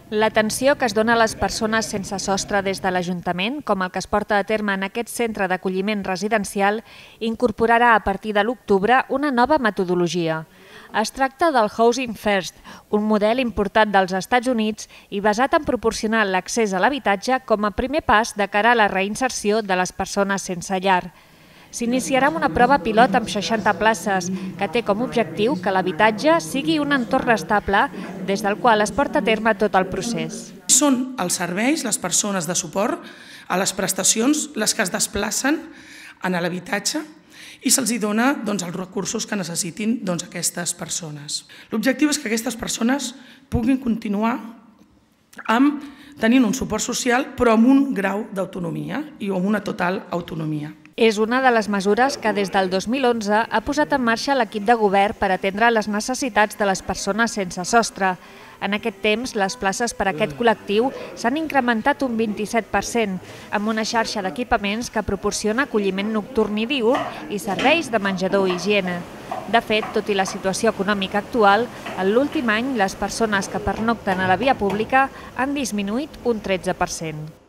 L'atenció que es dona a les persones sense sostre des de l'Ajuntament, com el que es porta a terme en aquest centre d'acolliment residencial, incorporarà a partir de l'octubre una nova metodologia. Es tracta del Housing First, un model importat dels Estats Units i basat en proporcionar l'accés a l'habitatge com a primer pas de cara a la reinserció de les persones sense llar. S'iniciarà amb una prova pilot amb 60 places, que té com a objectiu que l'habitatge sigui un entorn estable des del qual es porta a terme tot el procés. Són els serveis, les persones de suport a les prestacions, les que es desplacen a l'habitatge i se'ls dona els recursos que necessitin aquestes persones. L'objectiu és que aquestes persones puguin continuar tenint un suport social però amb un grau d'autonomia i amb una total autonomia. És una de les mesures que des del 2011 ha posat en marxa l'equip de govern per atendre les necessitats de les persones sense sostre. En aquest temps, les places per a aquest col·lectiu s'han incrementat un 27%, amb una xarxa d'equipaments que proporciona acolliment nocturn i diürn i serveis de menjador i higiene. De fet, tot i la situació econòmica actual, en l'últim any les persones que pernocten a la via pública han disminuït un 13%.